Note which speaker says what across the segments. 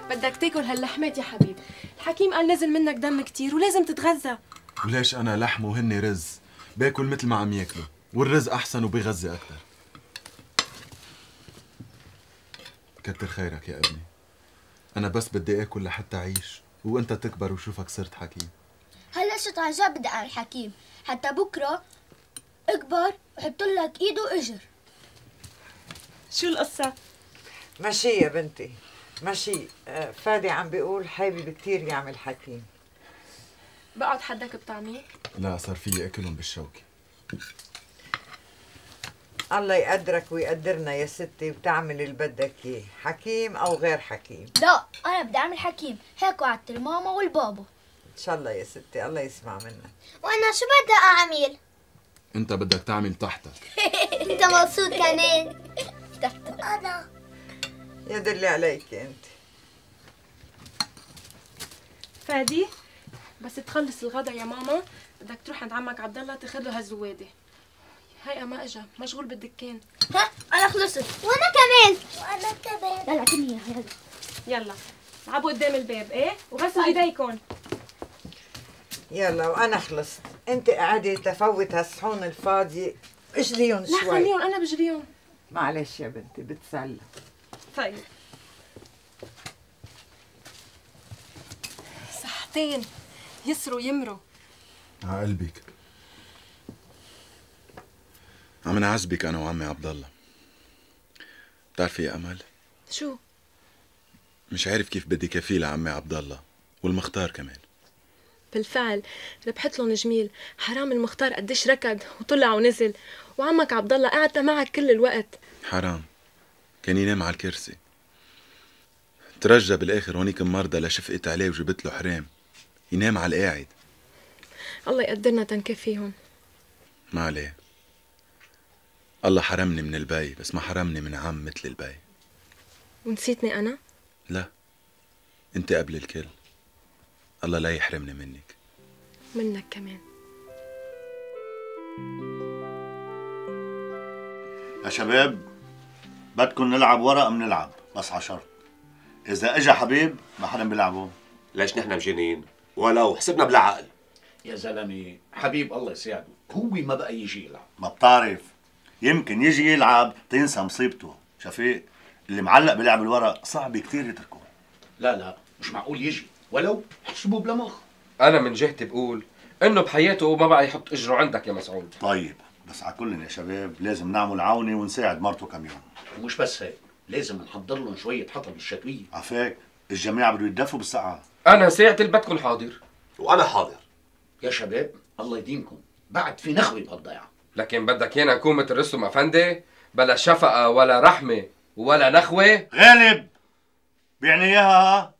Speaker 1: بدك تاكل هاللحمات يا حبيب. الحكيم قال نزل منك دم كتير ولازم تتغذى.
Speaker 2: وليش أنا لحم وهن رز؟ باكل مثل ما عم ياكلوا، والرز أحسن وبيغذي أكتر. كتر خيرك يا ابني. أنا بس بدي آكل لحتى أعيش وأنت تكبر وشوفك صرت حكيم.
Speaker 3: هلا شت عن جد بدي أعمل حكيم، حتى بكرة اكبر وحط لك إيد وإجر.
Speaker 1: شو القصة؟
Speaker 4: ماشي يا بنتي ماشي. فادي عم بيقول حابب كتير يعمل حكيم.
Speaker 1: بقعد حدك بطعميه؟
Speaker 2: لا صار فيي أكلهم بالشوكة.
Speaker 4: الله يقدرك ويقدرنا يا ستي وتعمل اللي بدك اياه، حكيم او غير حكيم.
Speaker 3: لا انا بدي اعمل حكيم، هيك وعدت الماما والبابا.
Speaker 4: ان شاء الله يا ستي، الله يسمع منك.
Speaker 3: وانا شو بدي اعمل؟
Speaker 2: أنت بدك تعمل تحتك.
Speaker 3: انت مبسوط كمان؟ تحتك انا.
Speaker 4: يا دلي عليك انت.
Speaker 1: فادي بس تخلص الغدا يا ماما بدك تروح عند عمك عبد الله تاخذ له هالزواده. هيئة ما اجا، مشغول بالدكان.
Speaker 3: ها انا خلصت. وانا كمان. وانا كمان. يلا كلني يلا.
Speaker 1: يلا العبوا قدام الباب ايه وغسلوا ايديكم.
Speaker 4: يلا وانا خلصت، انت قاعده تفوت هالصحون الفاضيه، اجليهم شوي.
Speaker 1: لا خليهم انا بجليهم.
Speaker 4: معلش يا بنتي بتسلى.
Speaker 1: طيب صحتين يسروا يمروا.
Speaker 2: عقلبك. عم نعذبك انا وعمي عبد الله. بتعرفي يا امل؟
Speaker 1: شو؟
Speaker 2: مش عارف كيف بدي كفيه لعمي عبد الله والمختار كمان.
Speaker 1: بالفعل ربحت لهم جميل، حرام المختار قديش ركض وطلع ونزل، وعمك عبد الله قعد معك كل الوقت.
Speaker 2: حرام، كان ينام على الكرسي. ترجى بالاخر هونيك مرضى لشفقت عليه وجبت له حرام ينام على القاعد.
Speaker 1: الله يقدرنا تنكفيهم.
Speaker 2: ما عليه، الله حرمني من البي بس ما حرمني من عم مثل البي.
Speaker 1: ونسيتني انا؟
Speaker 2: لا، انت قبل الكل. الله لا يحرمني منك.
Speaker 1: منك كمان.
Speaker 5: يا شباب بدكم نلعب ورق بنلعب، بس على شرط اذا اجا حبيب ما حدا بيلعبه.
Speaker 6: ليش نحن مجانين؟ ولو حسبنا بالعقل.
Speaker 7: يا زلمه حبيب الله يساعده، هو ما بقى يجي يلعب.
Speaker 5: ما بتعرف، يمكن يجي يلعب تنسى مصيبته. شفيق اللي معلق بلعب الورق صعب كتير يتركه.
Speaker 7: لا مش معقول يجي، ولو حسبه بلا مخ.
Speaker 8: انا من جهتي بقول انه بحياته ما بقى يحط اجره عندك يا مسعود.
Speaker 5: طيب بس على كل يا شباب لازم نعمل عونه ونساعد مرته كم يوم.
Speaker 7: ومش بس هيك، لازم نحضر لهم شويه حطب الشتويه.
Speaker 5: عفاك الجماعه بده يتدفوا بالسقعه.
Speaker 8: انا ساعة اللي بدكم حاضر.
Speaker 6: وانا حاضر.
Speaker 7: يا شباب الله يديمكم، بعد في نخوه بهالضيعه.
Speaker 8: لكن بدك يانا نكون مثل رستم افندي، بلا شفقه ولا رحمه ولا نخوه.
Speaker 5: غالب بيعني اياها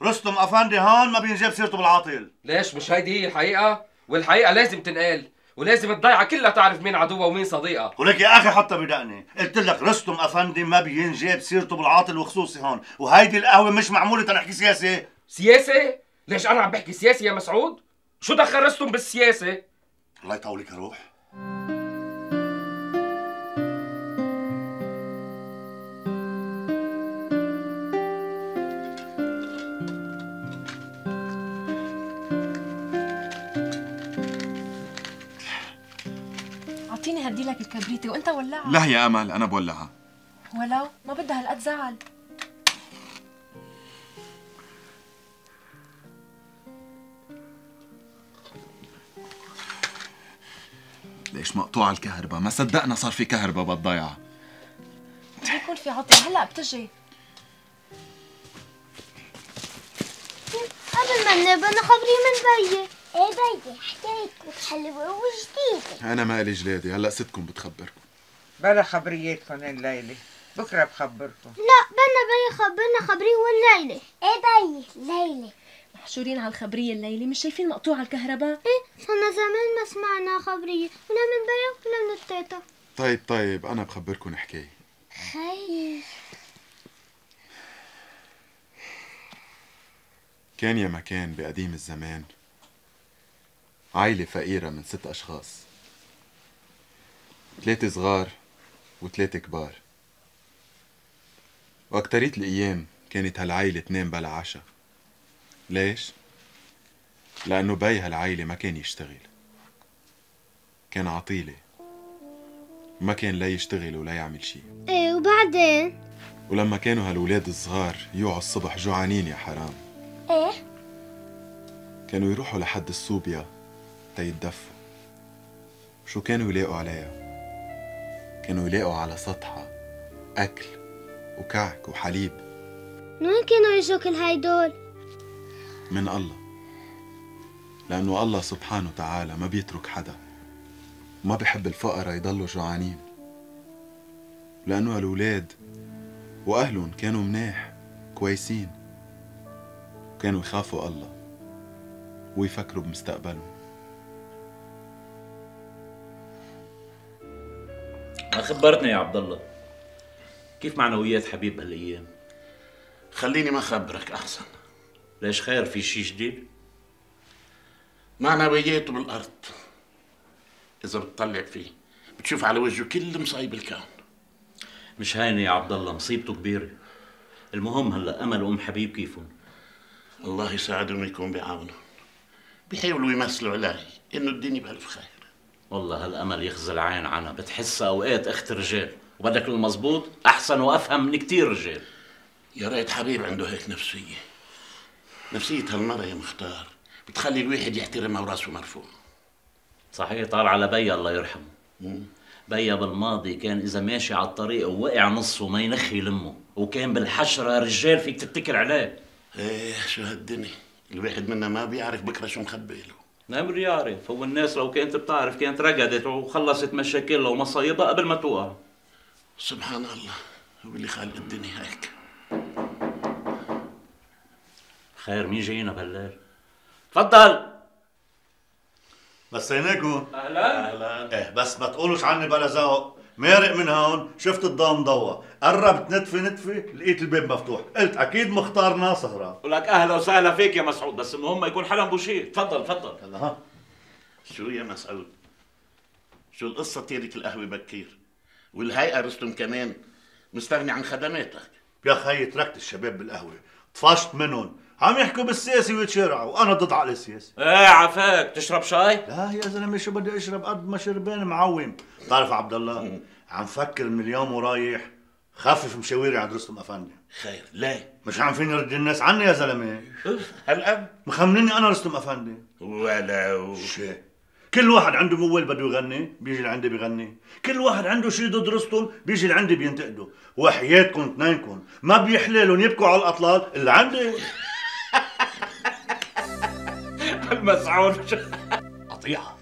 Speaker 5: رستم افندي هون ما بينجاب سيرته بالعاطل.
Speaker 8: ليش مش هيدي هي الحقيقه؟ والحقيقه لازم تنقال، ولازم الضيعه كلها تعرف مين عدوها ومين صديقها.
Speaker 5: ولك يا اخي حتى بدقني، قلت لك رستم افندي ما بينجاب سيرته بالعاطل وخصوصي هون، وهيدي القهوه مش معموله تنحكي سياسه.
Speaker 8: سياسه؟ ليش انا عم بحكي سياسه يا مسعود؟ شو دخل رستم بالسياسه؟
Speaker 5: الله يطولك يا روح.
Speaker 1: اعطيني هدي لك الكبريتة وانت ولعها.
Speaker 2: لا يا امل انا بولعها.
Speaker 1: ولو ما بدها هالقد زعل.
Speaker 2: ليش مقطوع الكهرباء؟ ما صدقنا صار في كهرباء بالضيعة.
Speaker 1: بيكون في عطل هلا بتجي.
Speaker 3: قبل ما ننام بدنا خبريه من بيي. ايه بيي حكايتك حلوه وجديده.
Speaker 2: انا مالي جلادي، هلا ستكم بتخبركم.
Speaker 4: بلا خبرياتكم الليله، بكره بخبركم.
Speaker 3: لا بدنا بيي خبرنا خبريه والليله. ايه بيي ليله.
Speaker 1: محشورين على الخبريه الليله، مش شايفين مقطوع الكهرباء؟
Speaker 3: ايه صرنا زمان ما سمعنا خبريه، ولا من بيي ولا من التيتا.
Speaker 2: طيب انا بخبركم حكايه.
Speaker 3: خير.
Speaker 2: كان يا مكان بقديم الزمان عائلة فقيرة من 6 أشخاص، 3 صغار و3 كبار. وأكترية الأيام كانت هالعيلة تنام بلا عشا. ليش؟ لأنه بي هالعيلة ما كان يشتغل، كان عطيلة، ما كان لا يشتغل ولا يعمل شي.
Speaker 3: ايه وبعدين؟
Speaker 2: ولما كانوا هالولاد الصغار يوعوا الصبح جوعانين يا حرام،
Speaker 3: ايه؟
Speaker 2: كانوا يروحوا لحد الصوبيا تيتدفوا. شو كانوا يلاقوا عليها؟ كانوا يلاقوا على سطحها أكل وكعك وحليب.
Speaker 3: من وين كانوا يجوا كل هيدول؟
Speaker 2: من الله، لأنه الله سبحانه وتعالى ما بيترك حدا، ما بيحب الفقراء يضلوا جوعانين، لأنه هالولاد وأهلهم كانوا مناح كويسين، كانوا يخافوا الله ويفكروا بمستقبلهم.
Speaker 7: ما خبرتني يا عبد الله، كيف معنويات حبيب هالايام؟
Speaker 9: خليني ما خبرك احسن.
Speaker 7: ليش خير، في شي جديد؟
Speaker 9: معنوياته بالارض، اذا بتطلع فيه بتشوف على وجهه كل مصايب الكون.
Speaker 7: مش هينه يا عبد الله، مصيبته كبيره. المهم هلا امل وام حبيب كيفهم؟
Speaker 9: الله يساعدهم ويكون بعاونهم، بيحاولوا يمثلوا علي انه الدنيا بألف خير.
Speaker 7: والله هالامل يخزى العين عنها، بتحسها اوقات اخت رجال، وبدك المزبوط احسن وافهم من كتير رجال.
Speaker 9: يا ريت حبيب عنده هيك نفسيه. نفسيه هالمرة يا مختار بتخلي الواحد يحترمها وراسه مرفوع.
Speaker 7: صحيح، طار على بيا الله يرحمه. بيا بالماضي كان اذا ماشي على الطريق ووقع نصه ما ينخي لمه، وكان بالحشره رجال فيك تتكل عليه.
Speaker 9: ايه شو هالدنيا، الواحد منا ما بيعرف بكره شو مخبي له.
Speaker 7: نعم يعرف، هو الناس لو كانت بتعرف كانت رقدت وخلصت مشاكلها ومصايبها قبل ما توقع.
Speaker 9: سبحان الله، هو اللي خالق الدنيا هيك.
Speaker 7: خير، مين جاينا بهالليل؟ تفضل.
Speaker 5: مسيناكم.
Speaker 7: اهلا.
Speaker 9: اهلا.
Speaker 5: ايه بس ما تقولوش عني بلا ذوق. مارق من هون شفت الضوء مضوى، قربت نتفي لقيت الباب مفتوح، قلت اكيد مختار ناصهرة.
Speaker 7: ولك اهلا وسهلا فيك يا مسعود، بس المهم يكون حلم بوشير. تفضل تفضل.
Speaker 5: هلا ها.
Speaker 9: شو يا مسعود؟ شو القصة تيرك القهوة بكير؟ والهيئة رستم كمان مستغني عن خدماتك.
Speaker 5: يا خيي تركت الشباب بالقهوة، طفشت منهم، عم يحكوا بالسياسي ويتشارعوا وانا ضد عقل السياسي.
Speaker 7: ايه عفاك، تشرب شاي؟
Speaker 5: لا يا زلمه شو بدي اشرب قد ما شربان معوم. بتعرف عبد الله عم فكر من اليوم ورايح خفف مشاويري عند رستم افندي.
Speaker 9: خير، ليه؟
Speaker 5: مش عم فيني رد الناس عني يا زلمه.
Speaker 9: هالقد؟
Speaker 5: مخمنيني انا رستم افندي.
Speaker 9: ولو
Speaker 5: شي كل واحد عنده موال بده يغني بيجي لعندي بيغني، كل واحد عنده شي ضد رستم بيجي لعندي بينتقده، وحياتكم اثنينكم ما بيحلى لهم يبكوا على الاطلال اللي عندي.
Speaker 7: المسعود
Speaker 9: قطيعة.